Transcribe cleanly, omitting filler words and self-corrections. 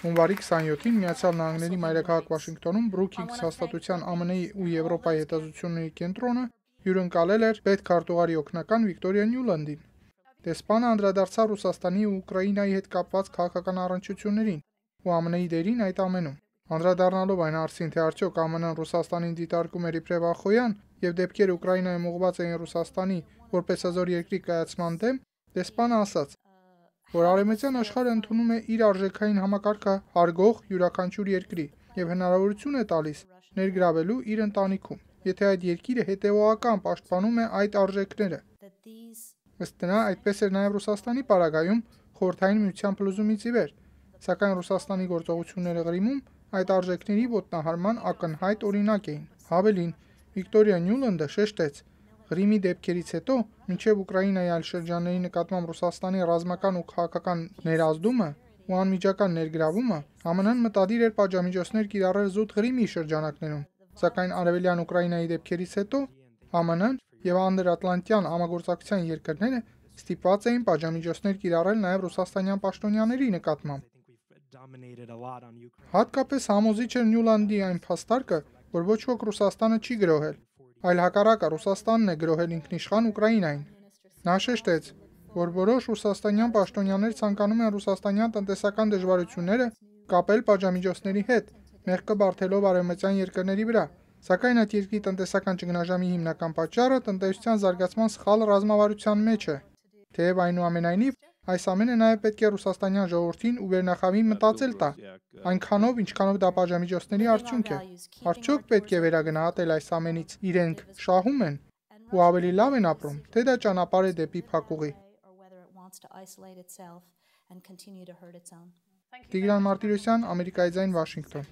Հունվարի 27-ին Միացյալ Նահանգների մայրաքաղաք Վաշինգտոնում Brookings հաստատության ԱՄՆ-ի ու Եվրոպայի հետազոտությունների կենտրոնը հյուրընկալել էր պետքարտուղարի օգնական Վիկտորիա Նյուլանդին։ Դեսպանը անդրադարձավ Ռուսաստանի ու Ուկրաինայի հետ կապված քաղաքական առնչություններին ու ԱՄՆ-ի դերին այդ ամենում։ Անդրադառնալով այն հարցին, թե արդյոք ԱՄՆ-ն Ռուսաստանին դիտարկում էր իբրև ախոյան եւ դեպքերը Ուկրաինայում ուղղված էին Ռուսաստանի որպես հզոր երկրի կայացման դեմ, դեսպանը ասաց, որ արևմտյան աշխարհը ընդունում է իր արժեքային համակարգը հարգող յուրաքանչյուր երկրի եւ հնարավորություն է տալիս ներգրավելու իր ընտանիքում, եթե այդ երկիրը հետեւողական պաշտպանում է այդ արժեքները։ Ըստ նրա, այդպես էր նաեւ Ռուսաստանի պարագայում Խորհրդային Միության փլուզումից ի վեր, սակայն Ռուսաստանի գործողությունները Ղրիմում այդ արժեքների ոտնահարման ակնհայտ օրինակ էին։ Հավելին, Վիկտորիա Նյուլանդը շեշտեց. Ղրիմի դեպքերից հետո, մինչև Ուկրաինայի այլ շրջանների նկատմամբ Ռուսաստանի ռազմական ու քաղաքական ներազդումը ու անմիջական ներգրավումը, ԱՄՆ-ն մտադիր էր պատժամիջոցներ կիրառել զուտ Ղրիմի շրջանակներում, սակայն արևելյան Ուկրաինայի դեպքերից հետո ԱՄՆ-ն եւ անդրատլանտյան համագործակցության երկրները ստիպված էին պատժամիջոցներ կիրառել նաեւ ռուսաստանյան պաշտոնյաների նկատմամբ։ Հատկապես համոզիչ էր Նյուլանդի այն փաստարկը, որ ոչ ոք Ռուսաստանը չի գրոհել, այլ հակառակը Ռուսաստանն է գրոհել ինքնիշխան Ուկրաինային։ Նա շեշտեց, որ որոշ ռուսաստանյան պաշտոնյաներ ցանկանում են ռուսաստանյան տնտեսական դժվարությունները կապել պատժամիջոցների հետ, մեղքը բարթելով արևմտյան երկրների վրա, սակայն այդ երկրի տնտեսական ճգնաժամի հիմնական պատճառը տնտեսության զարգացման սխալ ռազմավարության մեջ է։ Թեև այնուամենայնիվ, այս ամենը նաև պետք է ռուսաստանյան ժողովրդին ու վերնախավին մտածել տա, այնքանով, ինչքանով դա պատժամիջոցների արդյունք է։ Արդյոք պետք է վերագնահատել այս ամենից իրենք շահում են ու ավելի լավ են ապրում, թե դա ճանապարհ է դեպի փակուղի։ Տիգրան Մարտիրոսյան, Ամերիկայի ձայն, Վաշինգտոն։